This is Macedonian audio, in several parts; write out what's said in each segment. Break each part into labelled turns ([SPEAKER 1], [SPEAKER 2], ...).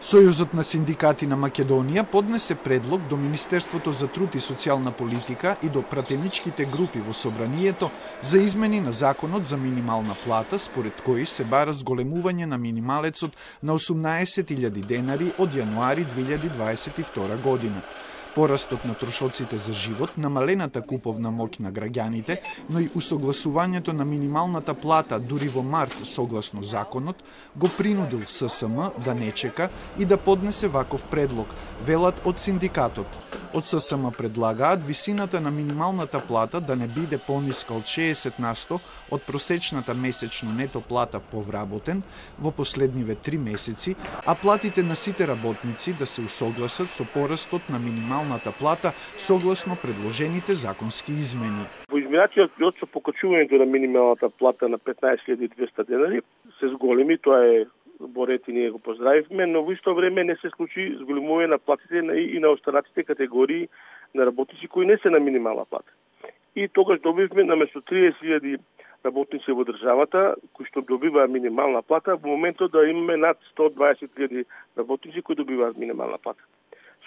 [SPEAKER 1] Сојузот на синдикати на Македонија поднесе предлог до Министерството за труд и социјална политика и до пратеничките групи во собранието за измени на законот за минимална плата, според кои се бара зголемување на минималецот на 18.000 денари од јануари 2022 година. Порастот на трошоците за живот, намалената куповна моќ на граѓаните, но и усогласувањето на минималната плата дури во март согласно законот, го принудил ССМ да не чека и да поднесе ваков предлог, велат од синдикатот. Од ССМ предлагаат висината на минималната плата да не биде пониска од 60% од просечната месечно нето плата по вработен во последниве 3 месеци, а платите на сите работници да се усогласат со порастот на минималната плата согласно предложените законски измени.
[SPEAKER 2] Во изминатиот период со покачувањето на минималната плата на 15.200 денари се зголеми, тоа е борет и ние го поздравивме, но во исто време не се случи зголемување на платите и на останатите категории на работници кои не се на минимална плата. И тогаш добивме наместо 30.000 работници во државата кои што добиваат минимална плата, во моментот да имаме над 120.000 работници кои добиваат минимална плата.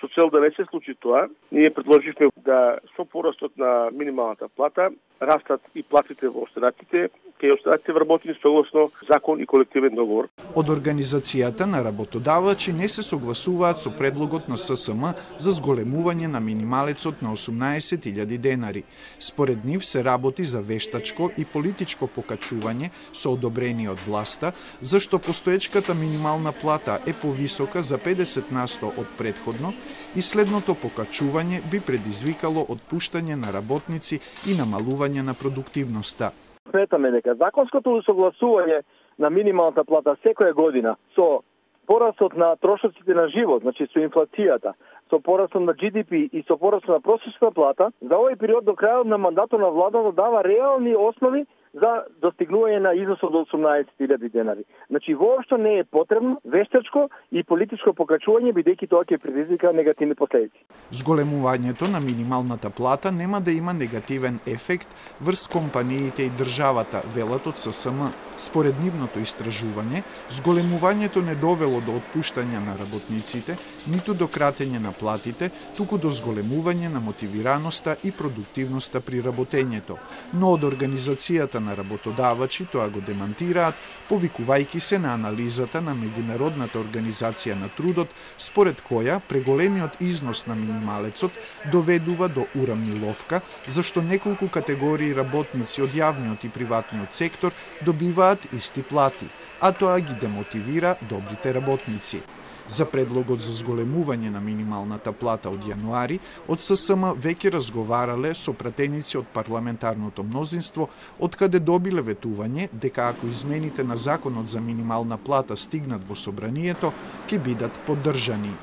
[SPEAKER 2] Со цел да не се случи тоа, ние предложивме да со порастот на минималната плата растат и платите во останатите, кај останатите вработени согласно закон и колективен договор.
[SPEAKER 1] Од организацијата на работодавачи не се согласуваат со предлогот на ССМ за зголемување на минималецот на 18.000 денари. Според нив се работи за вештачко и политичко покачување со одобрение од власта, зашто постоечката минимална плата е повисока за 50% од претходно и следното покачување би предизвикало отпуштање на работници и намалување на продуктивноста.
[SPEAKER 3] Сметаме дека законското усогласување на минималната плата секоја година со порастот на трошоците на живот, значи со инфлацијата, со порастот на GDP и со порастот на просечната плата, за овој период до крајот на мандатот на владата дава реални основи за достигнување на износот од 18.000 денари. Значи, воопшто не е потребно вештачко и политичко покачување, бидејќи тоа ќе предизвика негативни последици.
[SPEAKER 1] Зголемувањето на минималната плата нема да има негативен ефект врз компаниите и државата, велат од ССМ. Според нивното истражување, зголемувањето не довело до отпуштање на работниците, ниту до кратење на платите, туку до зголемување на мотивираноста и продуктивноста при работењето. Но од организацијата на работодавачи тоа го демантираат, повикувајќи се на анализата на Меѓународната организација на трудот, според која преголемиот износ на минималецот доведува до урамниловка, зашто неколку категории работници од јавниот и приватниот сектор добиваат исти плати, а тоа ги демотивира добрите работници. За предлогот за зголемување на минималната плата од јануари, од ССМ веќе разговарале со пратеници од парламентарното мнозинство, од каде добиле ветување дека ако измените на законот за минимална плата стигнат во собранието, ќе бидат поддржани.